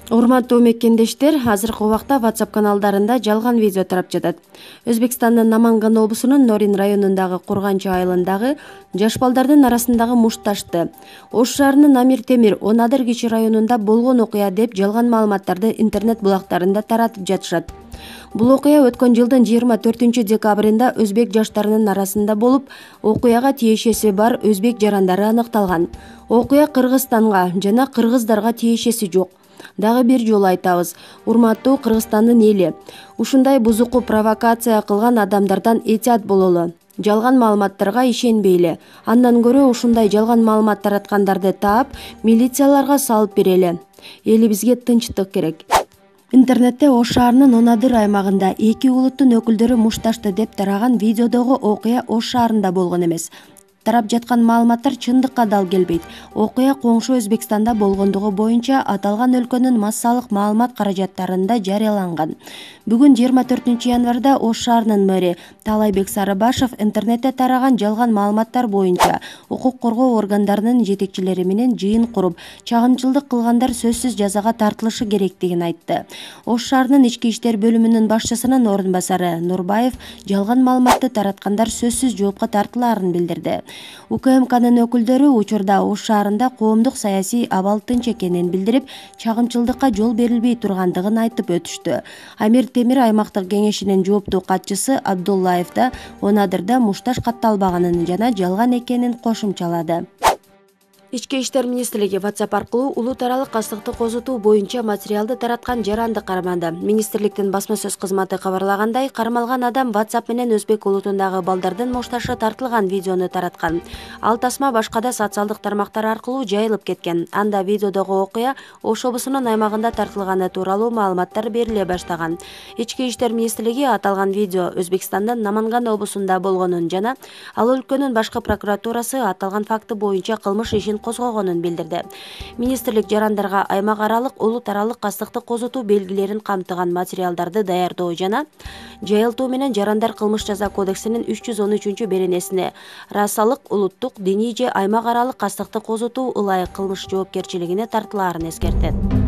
Урматтуу мекендештер, азыркы убакта WhatsApp каналдарында жалган видео тарап жатат. Өзбекстандын Наманган облусунун Норин районундагы Курганчы айылындагы жаш балдардын арасындагы мушташты Ош шаарынын Амир Темир Онадыр кичи районунда болгон окуя деп жалган маалыматтарды интернет булактарында таратып жатышат. Бул окуя өткөн жылдын 24 декабрында өзбек жаштарынын арасында болуп, окуяга тиешеси бар өзбек жарандары аныкталган. Окуя Кыргызстанга жана кыргыздарга тиешеси жок. Дагы бир жолу айтабыз, урматтуу Кыргызстандын эли, ушундай бузуку провокация кылган адамдардан этият бололу. Жалган маалыматтарга ишенбейли. Андан көрө ушундай жалган маалымат тараткандарды таап, милицияларга салып берели. Элибизге тынчтык керек. Интернетте Ош шаарынын Онадыр аймагында эки улуттун өкүлдөрү мушташты деп тараган видеодогу окуя Ош шаарында болгон эмес. Тарап жаткан маалыматтар чындыкка дал келбейт. Окуя коңшу Өзбекстанда болгондугу боюнча аталган өлкөнүн массалык маалымат каражаттарында жарыяланган. Бүгүн 24 январда Ош шаарынын мэри Талайбек Сарыбашев интернетте тараган жалган маалыматтар боюнча укук коргоо органдарынын жетекчилери менен жыйын куруп, чагымчылдык кылгандар сөзсүз жазага тартылышы керектигин айтты. Ош шаарынын ички иштер бөлүмүнүн башчысынын орун басары Нурбаев жалган маалыматты тараткандар сөзсүз жоопко тартылаарын билдирди. УКМКнын өкүлдөрү учурда Ош шаарында коомдук саясий абал тынч экенин билдирип, чагымчылдыкка жол берилбей тургандыгын айтып өтүштү. Амир Темир аймактык кеңешинин жооптуу катчысы Абдуллаев да Онадырда мушташ катталбаганын жана жалган экенин кошумчалады. Ички иштер министрлиги WhatsApp аркылуу улут аралык кастыкты козутуу боюнча материалды тараткан жаранды кармады. Министрликтин басма сөз кызматы кабарлагандай, кармалган адам WhatsApp менен өзбек улутундагы балдардын мушташы тартылган видеону тараткан. Ал тасма башка да социалдык тармактар аркылуу жайылып кеткен. Анда видеодогу окуя Ош облусунун аймагында тартылганы тууралуу маалыматтар бериле баштаган. Ички иштер министрлиги аталган видео Өзбекстандын Наманган облусунда болгонун жана ал өлкөнүн башкы прокуратурасы аталган факты боюнча кылмыш ишин козгогонун билдирди. Министрлик жарандарга аймак аралык, улут аралык кастыкты козутуу белгилерин камтыган материалдарды даярдоо жана жайылтуу менен жарандар кылмыш жаза кодексинин 313 беренесине расалык, улуттук, диний же аймак аралык кастыкты козутуу ылайык кылмыш жоопкерчилигине тартылаарын эскертет.